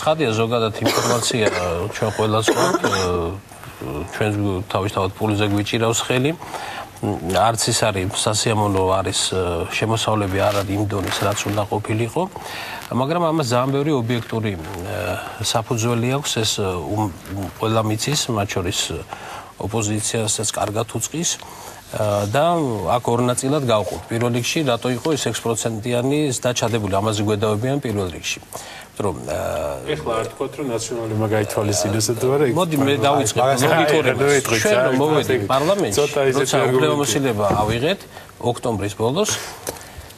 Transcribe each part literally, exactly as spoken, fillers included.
ცხადია ზოგადად ინფორმაცია ჩვენ ყველას გვაქვს ჩვენ თავისთავად პულზე გვიჭირავს ხელი არც ის არის სასიამოვნო არის შემოსავლები არ არის იმ დონის რაც უნდა ყოფილიყო მაგრამ ამას ძალიან ბევრი ობიექტური საფუძველი აქვს ეს ყველა მიცის მათ შორის ოპოზიციასაც კარგად უწყის და აქ ორ ნაწილად გავყოთ პირველ რიგში რატო იყო ეს ექვს პროცენტიანი დაჩადებული ამაზე გვედავებიან პირველ რიგში რომ ეხლა არ თქვათ რომ ნაციონალურმა გაითვალისწინოს თუ არა მოდი მე დავიწყებ მოგიტყურებს ჩვენ რომ მოვედით პარლამენტში როცა უფლებამოსილება ავიღეთ ოქტომბრის ბოლოს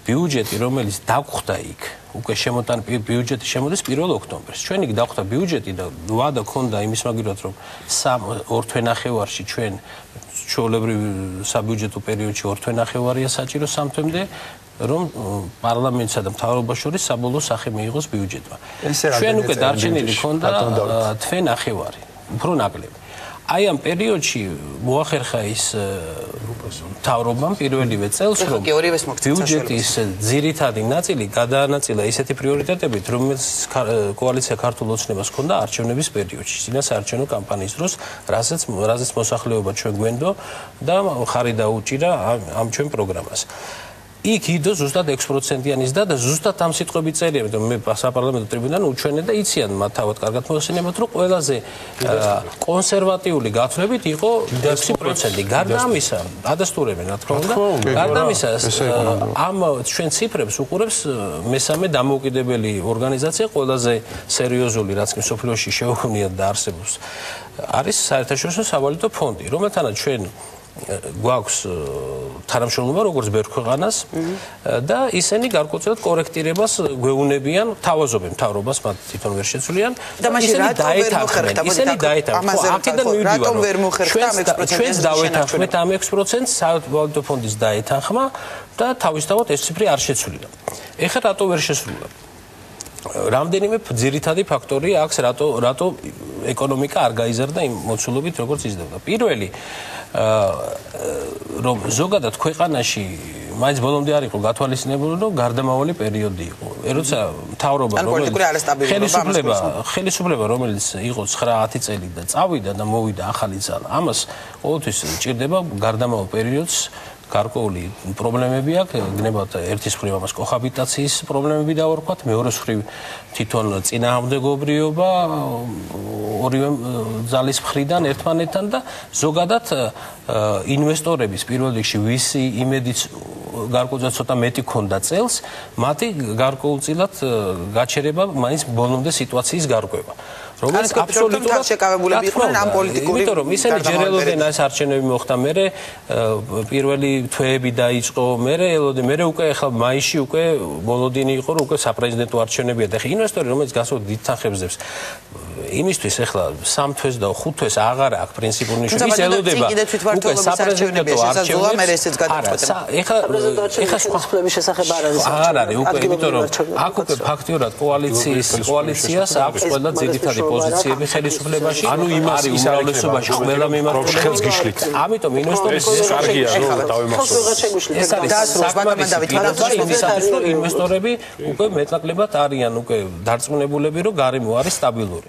ბიუჯეტი რომელიც დაგხვდა იქ უკვე შემოტან ბიუჯეტი შემოდის პირველ ოქტომბერს ჩვენ იქ დაგხვდა ბიუჯეტი და ვადა ქონდა იმის მაგივრად რომ სამ ორ თვენახევარში ჩვენ ჩვეულებრივ საბიუჯეტო პერიოდში ორ თვენახევარია საჭირო სამ თვემდე რომ პარლამენტსა და მთავრობას შორის საბოლოო სახე მიიღოს ბიუჯეტმა. ჩვენ უკვე დარჩენილი ქონდა თვენახევარი, უფრო ნაკლები. აი ამ პერიოდში მოახერხა ის მთავრობამ პირველივე წელს რომ ბიუჯეტის ძირითადი ნაწილი გადაანაწილა ისეთი პრიორიტეტებით, რომელიც კოალიცია ქართულ ოცნებას ჰქონდა არჩევნების პერიოდში, წინასაარჩევნო კამპანიის დროს, რასაც რაზეც მოსახლეობა ჩვენ გვენდო და ხარი დაუჭირა ამ ჩვენ პროგრამას. იქ იდო ზუსტად ექვს პროცენტიანი ზრდა და ზუსტად ამ სიტყვებით წერია, რომ მე საპარლამენტო ტრიბუნალთან უჩვენე და იციან მათ თავად კარგად მოახსენებათ, რომ ყველაზე კონსერვატიული გათვლებით იყო ექვსი პროცენტი. გარდა ამისა, ადასტურებენ რა თქმა უნდა, გარდა ამისა ამ ჩვენ ციფრებს უყურებს მესამე დამოუკიდებელი ორგანიზაცია, ყველაზე სერიოზული, რაც კი მსოფლიოში შეუქმნიათ და არსებობს, არის საერთაშორისო სავალუტო ფონდი, რომელთანაც ჩვენ გვაქვს თანამშრომლობა როგორც ბევრ ქვეყანას და ისინი გარკვეულწილად კორექტირებას გვეუბნებიან თავაზობენ მთავრობას მათ თვითონ ვერ შეცვლიან და ისინი დაეთანხმენ ისინი დაეთანხმენ აქედან მივიდივარ რომ ჩვენს დავეთანხმეთ ამ ექვს პროცენტს სავალუტო ფონდის დაეთანხმა და თავისთავად ეს ციფრი არ შეცვლილა ეხლა რატო ვერ შესრულა რამდენიმე ძირითადი ფაქტორია აქვს რატო რატო ეკონომიკა არ გაიზარდა იმ მოცულობით როგორც იზრდებოდა პირველი რომ ზოგადად ქვეყანაში მაინც ბოლომდე არ იყო გათვალისწინებული რომ გარდამავალი პერიოდი იყო როცა მთავრობა რომელიც ხელისუფლება ხელისუფლება რომელიც იყო ცხრა ათი წელი და წავიდა და მოვიდა ახალი ძალა ამას ყოველთვის ჭირდება გარდამავალ პერიოდს გარკვეული პრობლემები აქვს, გნებათ ერთის მხრივ ამას კოჰაბიტაციის პრობლემები დავარქვათ, მეორეს მხრივ თვითონ წინააღმდეგობრიობა ორივე ძალის მხრიდან ერთმანეთთან და ზოგადად ინვესტორების პირველ რიგში ვისი იმედიც გარკვეულწილად ცოტა მეტი ქონდა წელს, მათი გარკვეულწილად გაჩერება მაინც ბოლომდე სიტუაციის გარკვევა. რომელიც აბსოლუტურად შეკავებულები იყვნენ ამ პოლიტიკური იმიტომ რომ ისინი ჯერ ელოდნენ ეს არჩევნები მოხდა მერე პირველი თვეები დაიწყო მერე ელოდნენ მერე უკვე ახლა მაისში უკვე ბოლოდინი იყო რომ უკვე საპრეზიდენტო არჩევნებია და ხა ინვესტორი რომელიც გასულ დიდ თანხებს იმისთვის ახლა სამ თვეს და ხუთ თვეს აღარ აქვს პრინციპული ნიშნულობა ის ელოდება უკვე საპრეზიდენტო არჩევნები მერე ესეც გადაწყვეტა ეხლა ეხლა სხვა შესახებ არ არის აღარ არის უკვე იმიტომ რომ აქ უკვე ფაქტიურად კოალიციის კოალიციას აქვს ყველა ძირითადი პოზიციები ხელისუფლებაში ანუ იმას ის უმრავლესობაში ყველა მიმართულებით ხელს გიშლით ამიტომ ინვესტორის კარგია რომ დავემართოთ ეს არის საკმარის იმისათვის რომ ინვესტორები უკვე მეტნაკლებად არიან უკვე დარწმუნებულები რომ გარემო არის სტაბილური